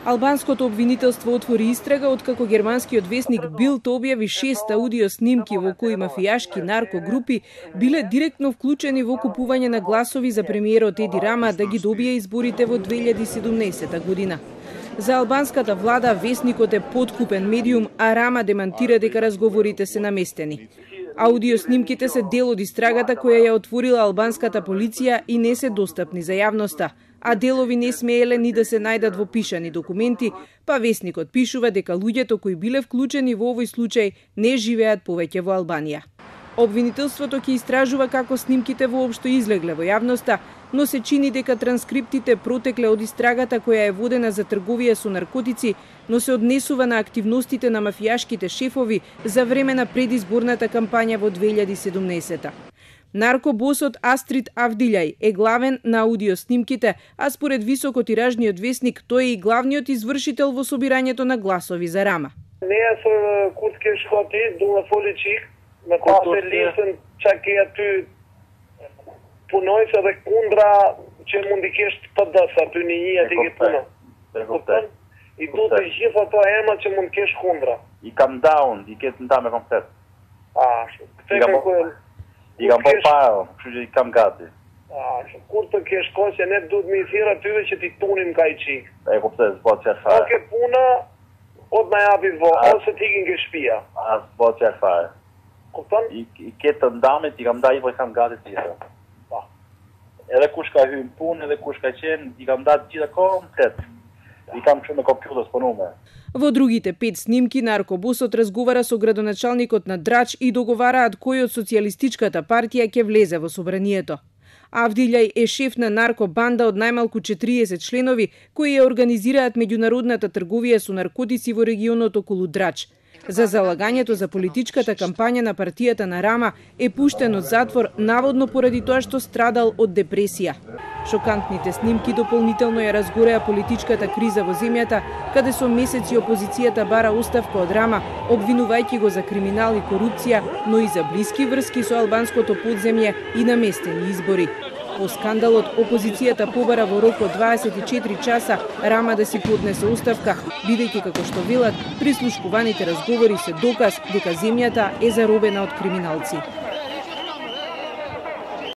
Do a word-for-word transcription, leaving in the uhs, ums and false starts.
Албанското обвинителство отвори истрага откако германскиот весник Билд објави шест аудио снимки во кои мафијашки наркогрупи биле директно вклучени во купување на гласови за премиерот Еди Рама да ги добие изборите во две илјади и седумнаесета година. За албанската влада весникот е подкупен медиум, а Рама демантира дека разговорите се наместени. Аудио снимките се дел од истрагата која ја отворила албанската полиција и не се достапни за јавноста, а делови не смееле ни да се најдат во пишани документи, па весникот пишува дека луѓето кои биле вклучени во овој случај не живеат повеќе во Албанија. Обвинителството ќе истражува како снимките воопшто излегле во јавноста, но се чини дека транскриптите протекле од истрагата која е водена за трговија со наркотици, но се однесува на активностите на мафијашките шефови за време на предизборната кампања во две илјади и седумнаесета. Наркобосот Астрид Авдилјај е главен на аудио снимките, а според високотиражниот весник тој е и главниот извршител во собирањето на гласови за Рама. Не е со куртке шкоти, дума фоличик, на која се лисен чак и ату punohet edhe kundra që mund i kesh të pëdës aty një një aty ke punë. I du të gjithë ato emra që mund kesh kundra. I kam down, i ketë nda me komplet. Ah, këtë kam ku... I kam po file, kështu që i kam gati. Ah, kur të kesh kohë që ne duhet me i thirë atyve që ti tunim ka i qikë. E kuptet, s'bo që e fare. O ke puna, o të na japi vo, ose t'ikin ke shpia. A, s'bo që e fare. Kupton? I, i ketë ndamit, i kam da i po i kam gati tjithë. Edhe kush ka hyrë në punë, edhe kush ka qenë, i kam datë gjitha komplet. I kam shumë me kompjuter spunume. Во другите пет снимки наркобосот разговара со градоначалникот на Драч и договараат кој од социјалистичката партија ќе влезе во собранието. Авдилјај е шеф на наркобанда од најмалку четириесет членови кои ја организираат меѓународната трговија со наркотици во регионот околу Драч. За залагањето за политичката кампања на партијата на Рама е пуштен од затвор наводно поради тоа што страдал од депресија. Шокантните снимки дополнително ја разгореа политичката криза во земјата, каде со месеци опозицијата бара оставка од Рама, обвинувајќи го за криминал и корупција, но и за блиски врски со албанското подземје и наместени избори. По скандалот, опозицијата побара во рок од дваесет и четири часа Рама да си поднесе оставка, бидејќи како што велат, прислушкуваните разговори се доказ дека земјата е заробена од криминалци.